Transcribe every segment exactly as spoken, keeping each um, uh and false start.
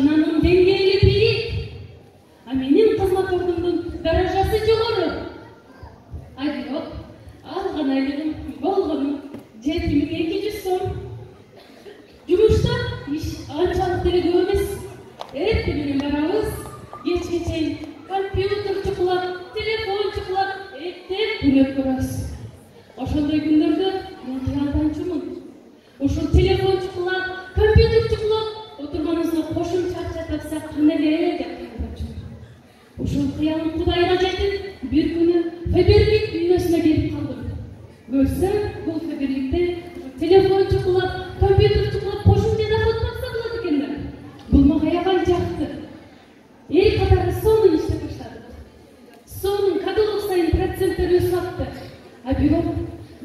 машинанын деңгээли бийик, а менин кызмат ордумдун даражасы жогору. Ай бирок алган айлыгым болгону жети миң эки жүз сом. Жумушта иш анчалык деле көп эмес. Эртең менен барабыз, кечке чейин компьютер чукулап, телефон чукулап, эптеп күнөп көрөбүз. Ошондой күндөрдө мен кыялданчумун. Ошол телефон чукулап, компьютер чукулап отурганыбызга кошумча акча тапсак кандай эле деп кыялданчумун. Ошол кыялым Кудайга жетип, бир күнү Фаберлик дүйнөсүнө келип калдым. Көрсөм, бул Фаберликте телефон чукулап, компьютер чукулап, кошумча доход тапса болот экенмин. Бул мага аябай жакты. Эл катары сонун иштеп баштадык. Сонун каталог сайын проценттер өсүп атты. А бирок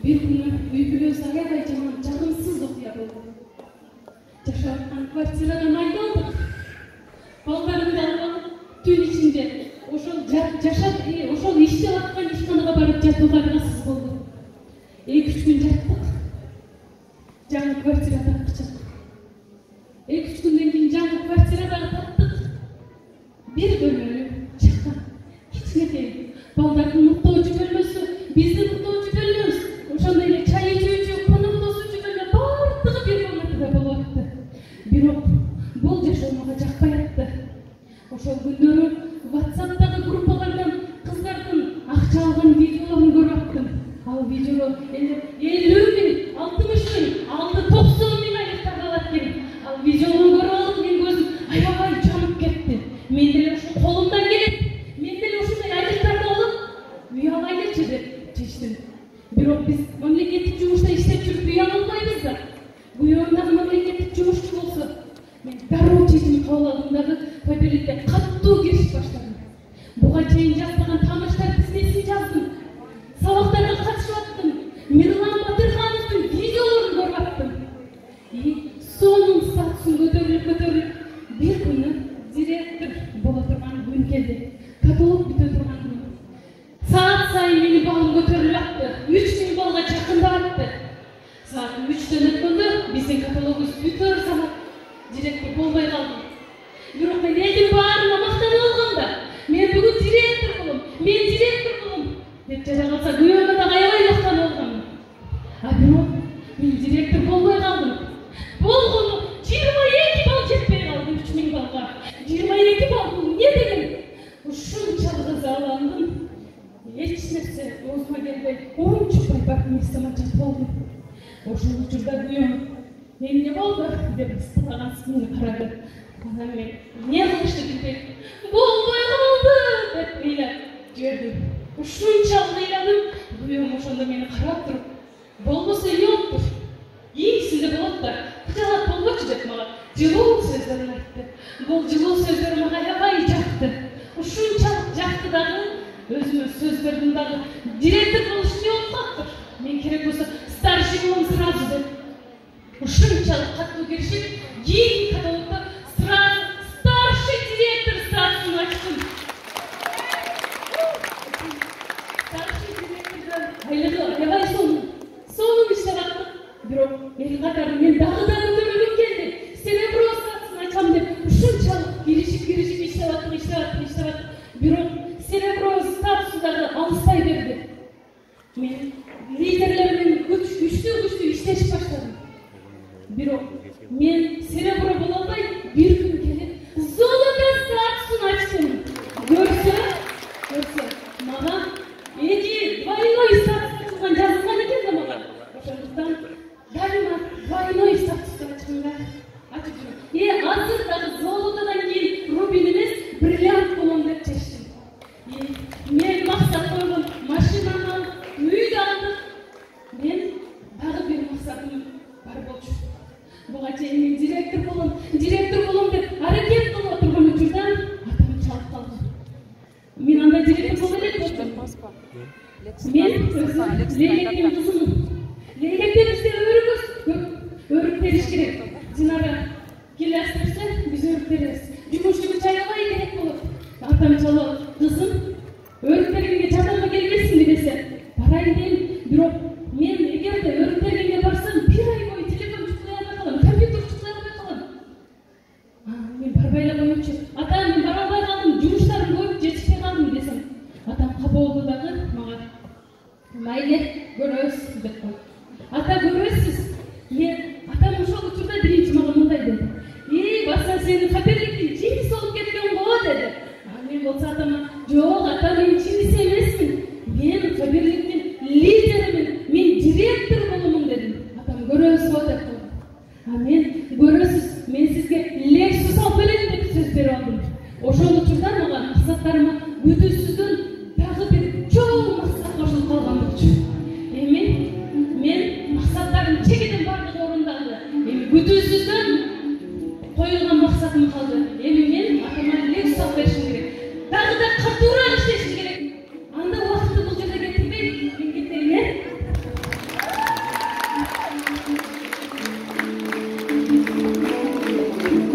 бир күнү үй бүлөбүз аябай жаман жагымсыз окуя болду. Жашап аткан квартирадан айдалдык. Балдарымды алып түн ичинде ошол жашап, ошол иштеп аткан ишканага барып жатууга аргасыз болду. эки үч күн жаттык. Жаңы квартирада акчак. эки үч күндөн кийин жаңы квартирада таптык. Бир бөлмөлүү чакан, кичинекей, балдардын муктоожу бөлмөсү, биздин муктоожу бөлмөбүз, ошондой эле чай ичүүчү, коноктосуучу бөлмө баардыгы бир комнатада болуп атты. Бирок бул жашоо мага жакпай атты. Ошол күндөрү WhatsApp'тагы группалардан кыздардын акча алган видеолорун көрүп аттым. Ал видео элүү миң, алтымыш миң, алты токсон миң айлыктар алат экен. Ал видеону көрүп алып менин көзүм аябай жанып кетти. Мен деле ошо колумдан келет. Мен деле ушундай айлыктарды алып үй алайлычы деп чечтим. Бирок биз мамлекеттик жумушта иштеп жүрүп үй ала албайбыз да. Буюрдагы мамлекеттик жумушчу болсо, мен дароо чечим кабыл алдым дагы Фаберликке каттуу киришип баштадым. Буга чейин жазбаган тааныштар тизмесин жаздым. Сабактарга катышып аттым. Мирлан Батырхановдун видеолорун көрүп аттым. И сонун статусун көтөрүп көтөрүп бир күнү директор боло турган күн келди. Каталог бүтө турган күн. Саат сайын менин балым көтөрүлүп атты. үч миң балга жакындап атты. Саат үчтөн өткөндө биздин каталогубуз бүтөр замат директор болбой калды. Бирок мен элдин баарына мактанып алгам да. Мен бүгүн директор болом, мен директор болом деп жара калса күйөөмө дагы аябай мактанып алгам. А бирок мен директор болбой калдым. Болгону жыйырма эки балл жетпей калды үч миң балга. жыйырма эки балл бул эмне деген? Ушунчалык ызаландым. Эч нерсе оозума келбей, оончукпай барып местомачат болдум. Ошол учурда күйөөм эмне болду деп ыстылаган сынын карады. Анан мен эмне кылышты билбей, болбой калды деп ыйлап жибердим. Ушунчалык ыйладым, күйөөм ошондо мени карап туруп, болбосо ийоптур, ийгисинде болот да, кыжалат болбочу деп мага жылуу сөздөрүн айтты. Бул жылуу сөздөр мага аябай жакты. Ушунчалык жакты дагы, өзүмө сөз бердим дагы, директор болуш эмне болуп калыптыр? Мен керек болсо старший болом сразу деп. Ушунчалык каттуу киришип, кийинки каталогдо сразу старший директор статусун ачтым. Старший директордон айлыгы аябай сонун, сонун иштеп аттык. Бирок эл катары мен дагы да көтөрүлгүм келди. Серебро статусун ачам деп ушунчалык киришип киришип иштеп аттык, иштеп аттык, иштеп аттык. Бирок серебро статусу дагы алыспай берди. Мен лидерлер менен күчтүү күчтүү иштешип баштадым. Бирок мен серебро боло албай, бир күн келип золото статусун ачтым. Көрсө, көрсө, мага эки двойной статус ачылган жазылган экен да мага. Ошондуктан дайыма двойной статусту ачканга ачып жүрөм. Э, азыр дагы золотодон кийин рубин эмес, бриллиант болом деп чечтим. Мен максат койгом, машинаны алып, үйдү алдык. Мен дагы бир максатым бар болчу. Буга чейин мен директор болом, директор болом деп аракет кылып турган учурда атам чалып калды. Мен анда директор боло элек болдум. Мен өзүм Лейлектин кызымын. Лейлектер бизде өрүкөз көп, өрүп бериш керек. Динара келе берсе, биз өрүп беребиз. Жумуш күч аябай керек болот. Атам чалып, кызым, өрүп бергенге жадырга келбесиңби десе, барайын дейм. Бирок мен эгерде өрүп бергенге барсам, бир ай бою телефон чукулай албай калам, компьютер чукулай албай калам. Мен барбай эле катуураак